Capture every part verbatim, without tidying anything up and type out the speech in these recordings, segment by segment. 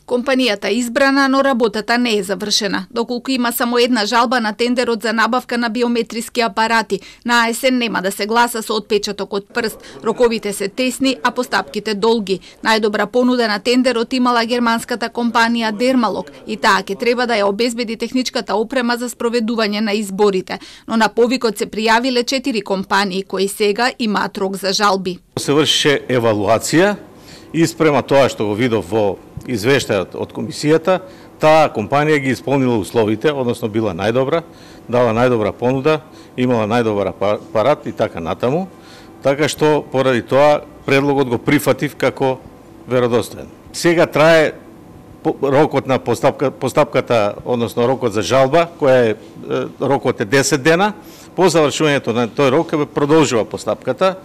Компанијата е избрана, но работата не е завршена. Доколку има само една жалба на тендерот за набавка на биометриски апарати, на есен нема да се гласа со отпечаток од прст. Роковите се тесни, а постапките долги. Најдобра понуда на тендерот имала германската компанија Дермалог и таа ќе треба да ја обезбеди техничката опрема за спроведување на изборите. Но на повикот се пријавиле четири компании кои сега имаат рок за жалби. Се врши евалуација и спрема тоа што го видов во извештајот од комисијата, таа компанија ги исполнила условите, односно била најдобра, дала најдобра понуда, имала најдобар апарат и така натаму, така што поради тоа предлогот го прифатив како веродостоен. Сега трае рокот на постапка, постапката, односно рокот за жалба, која е рокот е десет дена. По завршувањето на тој рок продолжува постапката.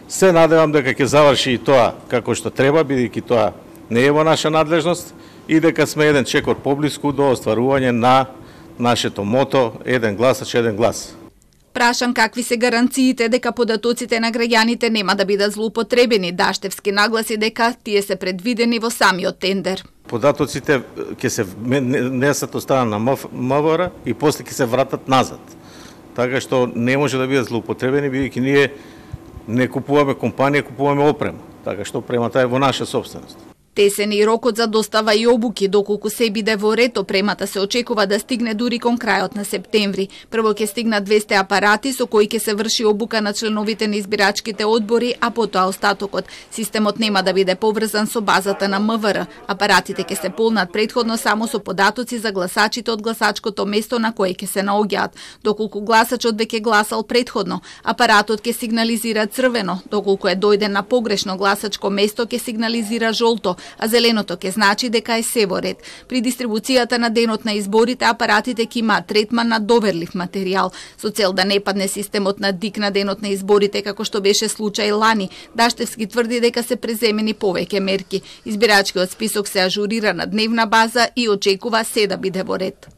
Се надевам дека ќе заврши и тоа како што треба, бидејќи тоа не е во наша надлежност и дека сме еден чекор поблиску до остварување на нашето мото еден гласач, еден глас. Прашан какви се гаранциите дека податоците на граѓаните нема да бидат злоупотребени, Даштевски нагласи дека тие се предвидени во самиот тендер. Податоците ќе се несат од страна на МВР и после ќе се вратат назад. Така што не може да бидат злоупотребени, бидејќи ние не купуваме компанија, купуваме опрема. Така што опремата е во наша собственост. Тесен и рокот за достава и обуки, доколку се биде во ред, опремата се очекува да стигне дури кон крајот на септември. Прво ќе стигнат двесте апарати со кои ќе се врши обука на членовите на избирачките одбори, а потоа остатокот. Системот нема да биде поврзан со базата на МВР. Апаратите ќе се полнат претходно само со податоци за гласачите од гласачкото место на кое ќе се наоѓаат. Доколку гласачот веќе гласал претходно, апаратот ќе сигнализира црвено, доколку е дојден на погрешно гласачко место ќе сигнализира жолто, а зеленото ќе значи дека е се во ред. При дистрибуцијата на денот на изборите, апаратите ќе имаат третман на доверлив материјал, со цел да не падне системот на ДИК на денот на изборите, како што беше случај лани. Даштевски тврди дека се преземени повеќе мерки. Избирачкиот список се ажурира на дневна база и очекува се да биде во ред.